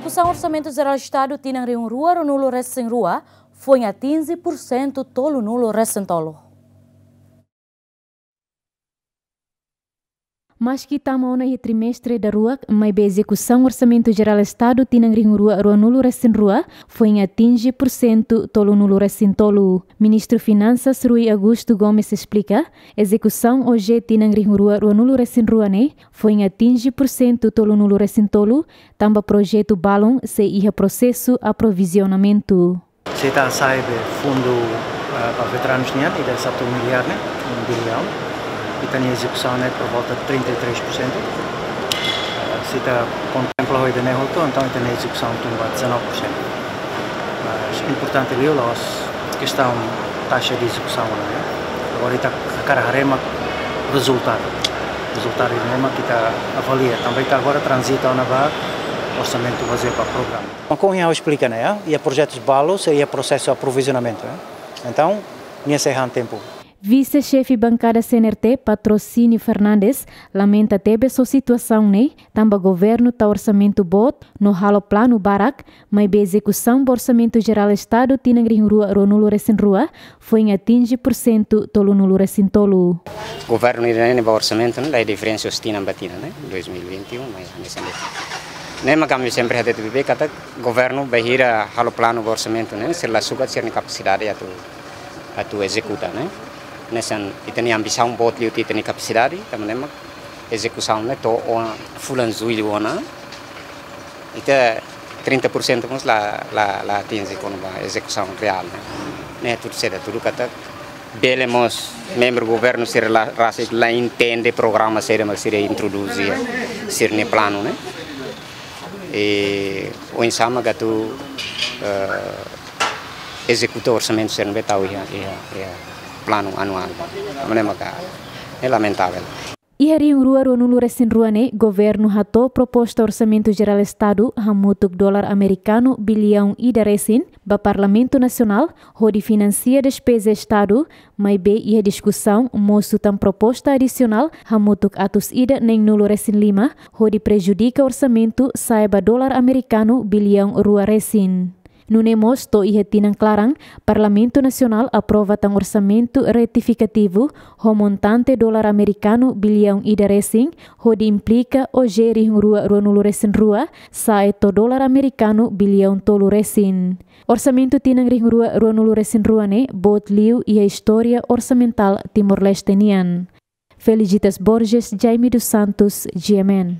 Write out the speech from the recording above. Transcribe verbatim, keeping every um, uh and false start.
Ezekusaun Orsamentu Jerál Estadu tinan rihun rua ruanulu resin rua foin atinje pursentu tolunulu resin tolu. Maski tama ona iha trimestre daruak, maibé ezekusaun Orsamentu Jerál Estadu tinan rihun rua ruanulu resin rua foin atinje pursentu tolunulu resin tolu. Ministru Finansas Rui Augusto Gomes esplika, ezekusaun O J tinan rihun rua ruanulu resin rua ne'e foin atinje pursentu tolunulu resin tolu, tanba projetu balun sei iha prosesu aprovizionamentu. Se ita hasai be fundu, eh, ba veteranus nian, ida satu miliar ne'e, um bilhão. Ita-nia ezekusaun ne'e por volta de trinta e três por cento. Eh, se ita kontempla ho ida-ne'e hotu, entaun ita-nia ezekusaun tun ba dezanove por cento. Mas importante liu la'ós kestaun taxa de ezekusaun, ne'e. Agora ita hakarak haree mak rezultadu. Rezultadu ne'e mak ita avalia. Tanba ita agora tranzita ona ba orsamentu bazeia ba programa. Maibé ha'u esplika ne'e, iha projetus balu sei iha prosesu aprovizionamentu, eh. Entaun, nia sei han tempu. Vise-Xefe Bankada C N R T, Patrocínio Fernandes, lamenta tebes ho situasaun ne'e, tanba governu tau orsamentu boot no halo planu barak, maibé ezekusaun ba Orsamentu Jerál Estadu tinan rihun rua ruanulu resin rua foin atinje pursentu tolunulu resin tolu. Governu ida-ne'e ba orsamentu ne'e, la diferensa husi tinan ba tinan, ne'e, dois mil e vinte e um, mas nesse ano. Ne'e mak ami sempre hatete beibeik katak governu bainhira halo planu ba orsamentu ne'e, sira la sukat sira-nia kapasidade atu, atu ezekuta, ne'e. Hanesan ita-nia ambisaun boot liu ita-nia kapasidade, tanba ne'e mak ezekusaun ne'e to'o fulan Jullu ona, ita trinta por cento mós la, la, la atinje kona-ba ezekusaun reál, ne'e. Ne'e tudu seda, tudu katak bele mós membru governu sira la, rasik la entende programa saida mak sira introduzi sira-nia planu, ne'e. I oinsá mak atu, eh, ezekuta orsamentu sira ne'ebé tau iha, iha, iha planu anuál. Ne'e mak, ne'e lamentavel. Iha rihun rua ruanulu resin rua ne'e, governu hato'o proposta Orsamentu Jerál Estadu hamutuk dolar amerikanu biliaun ida resin ba Parlamentu Nasionál hodi finansia despeza Estadu, maibé iha diskusaun mosu tan proposta adisionál hamutuk atus ida neenulu resin lima hodi prejudika orsamentu sa'e ba dolar amerikanu biliaun rua resin. Nune'e mós to'o iha tinan klaran, Parlamentu Nasionál aprova tan orsamentu retifikativu ho montante dolar amerikanu biliaun ida resin, hodi implika O J rihun rua ruanulu resin rua sa'e to'o dolar amerikanu biliaun tolu resin. Orsamentu tinan rihun rua ruanulu resin rua ne'e boot liu iha istória orsamentál Timor-Leste nian. Felicitas Borges, Jaime dos Santos, G M N.